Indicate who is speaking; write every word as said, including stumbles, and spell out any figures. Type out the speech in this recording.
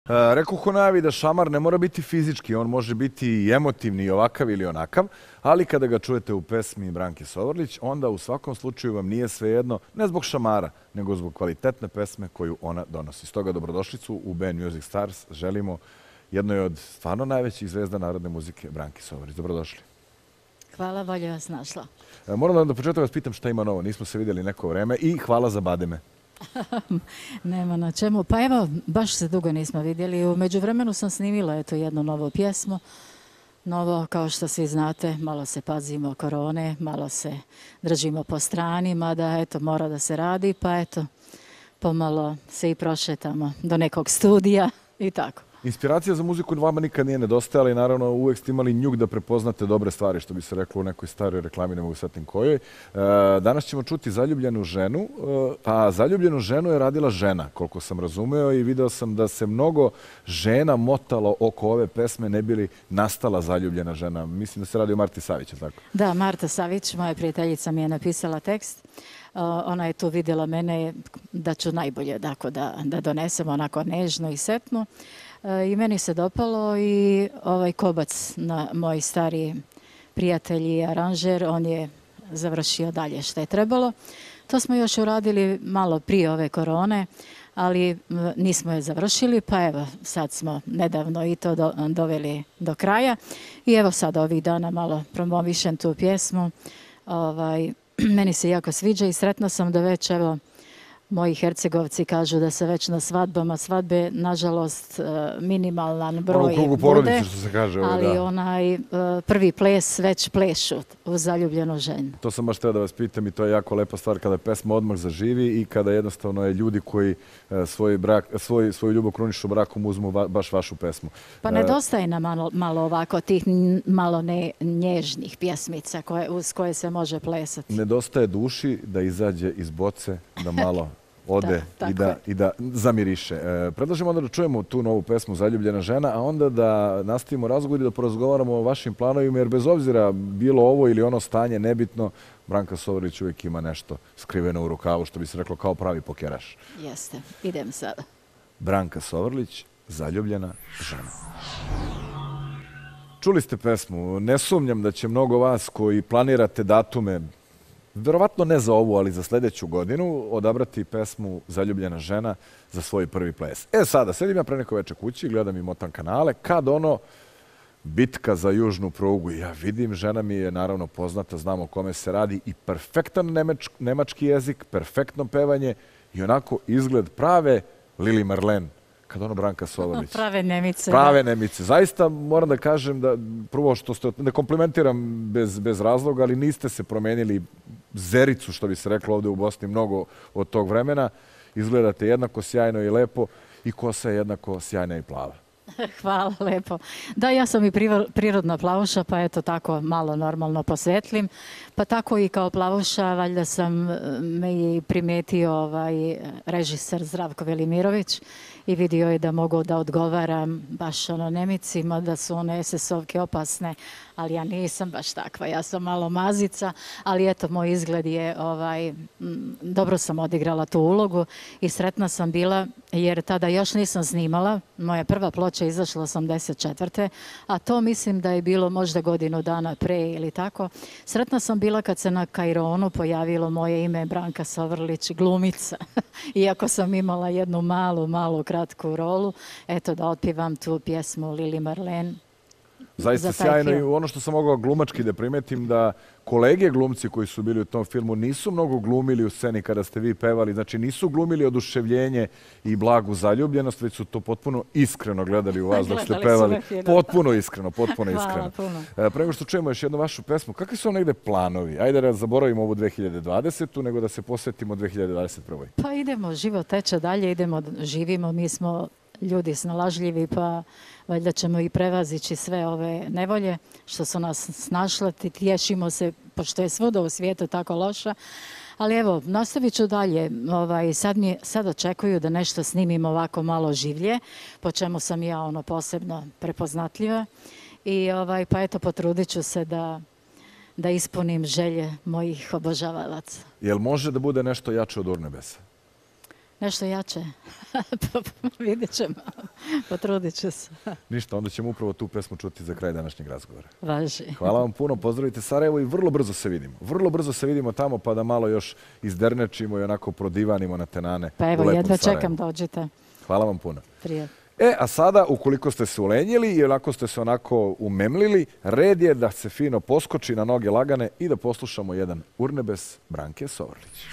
Speaker 1: E, Rekoh u najavi da šamar ne mora biti fizički, on može biti i emotivni i ovakav ili onakav, ali kada ga čujete u pesmi Branke Sovrlić, onda u svakom slučaju vam nije svejedno, ne zbog šamara, nego zbog kvalitetne pesme koju ona donosi. Stoga dobrodošlicu u Band Music Stars želimo jednoj od stvarno najvećih zvezda narodne muzike, Branki Sovrlić. Dobrodošli.
Speaker 2: Hvala, bolje vas našla.
Speaker 1: E, moram da do početka vas pitam šta ima novo, nismo se vidjeli neko vreme i hvala za bademe.
Speaker 2: Nema na čemu. Pa evo, baš se dugo nismo vidjeli. U međuvremenu sam snimila eto jednu novu pjesmu. Novo, kao što svi znate, malo se pazimo korone, malo se držimo po strani, mada eto mora da se radi, pa eto pomalo se i prošetamo do nekog studija i tako.
Speaker 1: Inspiracija za muziku vama nikad nije nedostajala i naravno uvek ste imali njuk da prepoznate dobre stvari, što bi se reklo u nekoj staroj reklami, ne mogu setim kojoj. Danas ćemo čuti Zaljubljenu ženu, a Zaljubljenu ženu je radila žena, koliko sam razumeo, i video sam da se mnogo žena motalo oko ove pesme, ne bi li nastala Zaljubljena žena. Mislim da se radi o Marti Savić, je tako?
Speaker 2: Da, Marta Savić, moja prijateljica, mi je napisala tekst. Ona je tu vidjela mene da ću najbolje da, da donesem onako nežno i setno. I meni se dopalo i ovaj Kobac, na, moj stari prijatelj i aranžer, on je završio dalje što je trebalo. To smo još uradili malo prije ove korone, ali nismo je završili, pa evo sad smo nedavno i to do, doveli do kraja. I evo sad ovih dana malo promovišem tu pjesmu. Ovaj, meni se jako sviđa i sretna sam da već evo moji Hercegovci kažu da se već na svadbama, svadbe, nažalost, minimalan broj
Speaker 1: u krugu porodice, što se kaže,
Speaker 2: ali
Speaker 1: da.
Speaker 2: onaj prvi ples već plešu u Zaljubljenu ženu.
Speaker 1: To sam baš teo da vas pitam i to je jako lepa stvar kada pesma odmah zaživi i kada jednostavno je ljudi koji svoj brak, svoj, svoju ljubav krunišu brakom uzmu va, baš vašu pesmu.
Speaker 2: Pa nedostaje nam malo, malo ovako tih malo ne nježnih pjesmica koje, uz koje se može plesati.
Speaker 1: Nedostaje duši da izađe iz boce, da malo ode da, i, da, i da zamiriše. E, predlažemo onda da čujemo tu novu pesmu Zaljubljena žena, a onda da nastavimo razgovor i da porazgovaramo o vašim planovima, jer bez obzira bilo ovo ili ono stanje nebitno, Branka Sovrlić uvijek ima nešto skriveno u rukavu, što bi se reklo kao pravi pokeraš.
Speaker 2: Jeste, idem sada.
Speaker 1: Branka Sovrlić, Zaljubljena žena. Čuli ste pesmu, ne sumnjam da će mnogo vas koji planirate datume, verovatno ne za ovu, ali za sljedeću godinu, odabrati pesmu Zaljubljena žena za svoj prvi ples. E sada, sedim ja pre neko veče kući, gledam i motam kanale, kad ono bitka za južnu prugu, ja vidim, žena mi je naravno poznata, znam o kome se radi i perfektan nemač, nemački jezik, perfektno pevanje i onako izgled prave Lili Marlen. Kad ono Branka Sovrlić.
Speaker 2: Prave Nemice.
Speaker 1: Prave Nemice. Zaista moram da kažem da prvo što ste, ne komplimentiram bez, bez razloga, ali niste se promenili zericu, što bi se reklo ovdje u Bosni, mnogo od tog vremena. Izgledate jednako sjajno i lepo i kosa je jednako sjajna i plava.
Speaker 2: Hvala lepo. Da, ja sam i prirodna plavuša, pa eto tako malo normalno posvetlim. Pa tako i kao plavuša, valjda sam me i primetio ovaj režiser Zdravko Velimirović i vidio je da mogu da odgovaram baš ono Nemicima, da su one es es ovke opasne, ali ja nisam baš takva, ja sam malo mazica, ali eto, moj izgled je, ovaj, dobro sam odigrala tu ulogu i sretna sam bila, jer tada još nisam snimala, moja prva ploča izašla osamdeset četvrte a to mislim da je bilo možda godinu dana pre ili tako. Sretna sam bila kad se na Kaironu pojavilo moje ime Branka Sovrlić, glumica, iako sam imala jednu malu, malu kratku rolu, eto da otpivam tu pjesmu Lili Marlen.
Speaker 1: Zaista sjajno i ono što sam mogao glumački da primetim da kolege glumci koji su bili u tom filmu nisu mnogo glumili u sceni kada ste vi pevali, znači nisu glumili oduševljenje i blagu zaljubljenost, već su to potpuno iskreno gledali u vas dok ste pevali. Potpuno iskreno, potpuno iskreno. Pre nego što čujemo još jednu vašu pesmu, kakvi su vam negde planovi? Ajde da zaboravimo ovu dve hiljade dvadesetu nego da se posvetimo dve hiljade dvadeset prve
Speaker 2: Pa idemo, život teče dalje, idemo, živimo, mi smo ljudi snalažljivi, pa valjda ćemo i prevazići sve ove nevolje što su nas snašle, tješimo se, pošto je svuda u svijetu tako loša. Ali evo, nastavit ću dalje. Ovaj, sad, mi, sad očekuju da nešto snimim ovako malo življe, po čemu sam ja ono posebno prepoznatljiva. I ovaj, pa eto, potrudit ću se da, da ispunim želje mojih obožavalaca.
Speaker 1: Jel može da bude nešto jače od Urnebesa?
Speaker 2: Nešto jače. Vidjet ćemo. Potrudit ću se.
Speaker 1: Ništa, onda ćemo upravo tu pesmu čuti za kraj današnjeg razgovora.
Speaker 2: Važi.
Speaker 1: Hvala vam puno, pozdravite Sarajevo i vrlo brzo se vidimo. Vrlo brzo se vidimo tamo pa da malo još izdernečimo i onako prodivanimo na tenane.
Speaker 2: Pa evo, jedva čekam, dođite.
Speaker 1: Hvala vam puno.
Speaker 2: Prijatno.
Speaker 1: E, a sada, ukoliko ste se ulenjili i onako ste se onako umemlili, red je da se fino poskoči na noge lagane i da poslušamo jedan urnebes Branke Sovrlić.